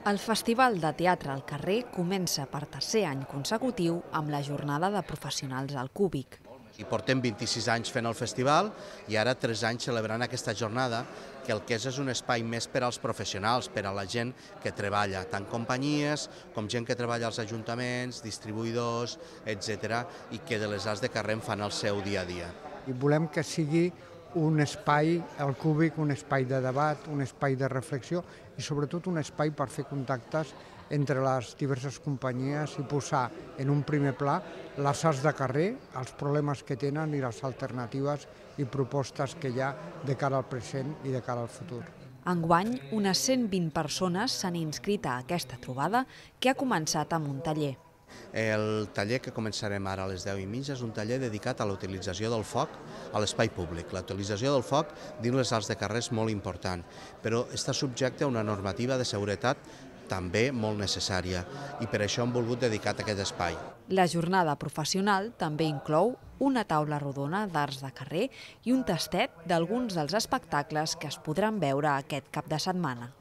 El Festival de Teatre al Carrer comença per tercer any consecutiu amb la jornada de professionals al Cúbic. I portem 26 anys fent el festival i ara 3 anys celebrant aquesta jornada, que el que és un espai més per als professionals, per a la gent que treballa, tant companyies com gent que treballa als ajuntaments, distribuïdors, etc., i que de les arts de carrer en fan el seu dia a dia. I volem que sigui un espai, el Cúbic, un espai de debat, un espai de reflexió i sobretot un espai per fer contactes entre les diverses companyies i posar en un primer pla les arts de carrer, els problemes que tenen i les alternatives i propostes que hi ha de cara al present i de cara al futur. Enguany, unes 120 persones s'han inscrit a aquesta trobada que ha començat amb un taller. El taller que començarem ara a les 10:30 és un taller dedicat a la utilització del foc a l'espai públic. La utilització del foc dins les arts de carrer és molt important, però està subjecte a una normativa de seguretat també molt necessària i per això hem volgut dedicar aquest espai. La jornada professional també inclou una taula rodona d'arts de carrer i un tastet d'alguns dels espectacles que es podran veure aquest cap de setmana.